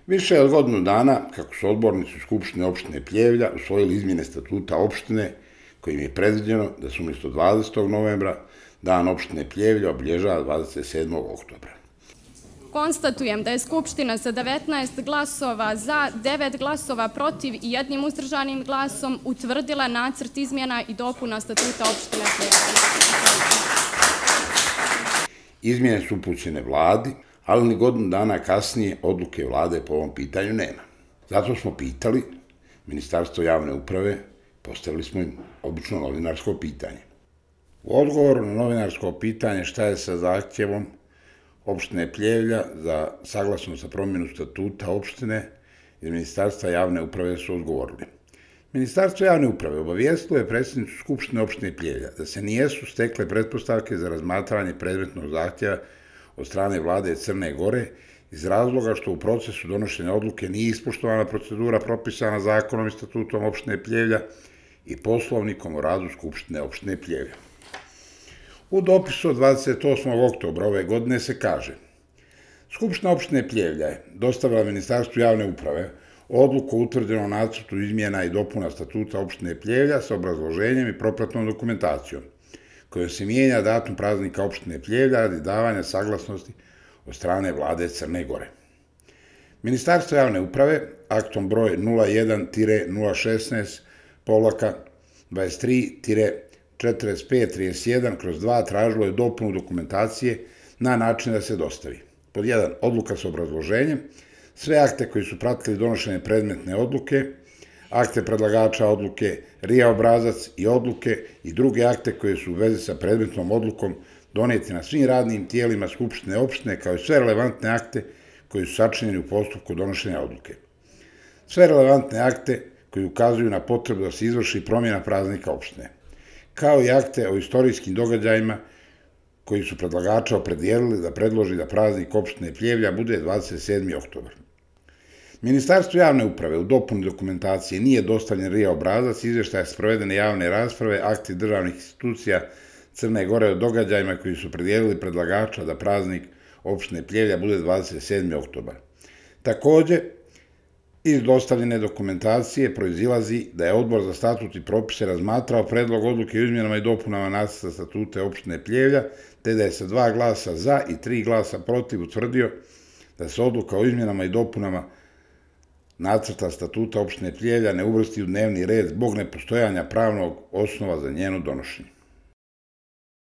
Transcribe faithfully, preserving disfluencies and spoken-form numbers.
Više od godinu dana, kako su odbornici Skupštine opštine Pljevlja usvojili izmjene statuta opštine, kojim je predviđeno da se umjesto dvadesetog novembra dan opštine Pljevlja obilježava dvadeset sedmog oktobra. Konstatujem da je Skupština sa devetnaest glasova za, devet glasova protiv i jednim uzdržanim glasom utvrdila nacrt izmjena i dopuna statuta opštine Pljevlja. Izmjene su upućene vladi, ali ni godinu dana kasnije odluke vlade po ovom pitanju nema. Zato smo pitali Ministarstvo javne uprave, postavili smo im obično novinarsko pitanje. U odgovoru na novinarsko pitanje šta je sa zahtjevom opštine Pljevlja za saglasnost za promjenu statuta opštine iz Ministarstva javne uprave su odgovorili. Ministarstvo javne uprave obavijestilo je predsjednicu Skupštine opštine Pljevlja da se nijesu stekle pretpostavke za razmatranje predmetnog zahtjeva od strane vlade Crne Gore iz razloga što u procesu donošenja odluke nije ispoštovana procedura propisana zakonom i statutom opštine Pljevlja i poslovnikom o radu Skupštine opštine Pljevlja. U dopisu od dvadeset osmog oktobra ove godine se kaže: Skupština opštine Pljevlja je dostavila Ministarstvu javne uprave odluku o utvrđenom nacrtu izmjena i dopuna statuta opštine Pljevlja sa obrazloženjem i propratnom dokumentacijom, kojom se mijenja datum praznika opštine Pljevlja radi davanja saglasnosti od strane vlade Crne Gore. Ministarstvo javne uprave aktom broj nula jedan nula šesnaest dvadeset tri četrdeset pet trideset jedan kroz dva tražilo je dopunu dokumentacije na način da se dostavi: pod jedan. Odluka sa obrazloženjem, sve akte koji su pratili donošenje predmetne odluke, akte predlagača odluke, R I A obrazac i odluke i druge akte koje su u vezi sa predmetnom odlukom doneti na svim radnim tijelima Skupštine opštine, kao i sve relevantne akte koji su sačinjeni u postupku donošenja odluke. Sve relevantne akte koji ukazuju na potrebu da se izvrši promjena praznika opštine, kao i akte o istorijskim događajima koji su predlagača opredijelili da predloži da praznik opštine Pljevlja bude dvadeset sedmi oktobar. Ministarstvo javne uprave u dopuni dokumentacije nije dostavljen R I A obrazac, izvještaj sprovedene javne rasprave, akti državnih institucija Crne Gore o događajima koji su opredijelili predlagača da praznik opštine Pljevlja bude dvadeset sedmi oktobar. Također, iz dostavljene dokumentacije proizilazi da je Odbor za statut i propise razmatrao predlog odluke o izmjenama i dopunama nacrta statuta opštine Pljevlja, te da je sa dva glasa za i tri glasa protiv utvrdio da se odluka o izmjenama i dopunama nacrta statuta opštine Pljevlja ne uvrsti u dnevni red zbog nepostojanja pravnog osnova za njeno donošenje.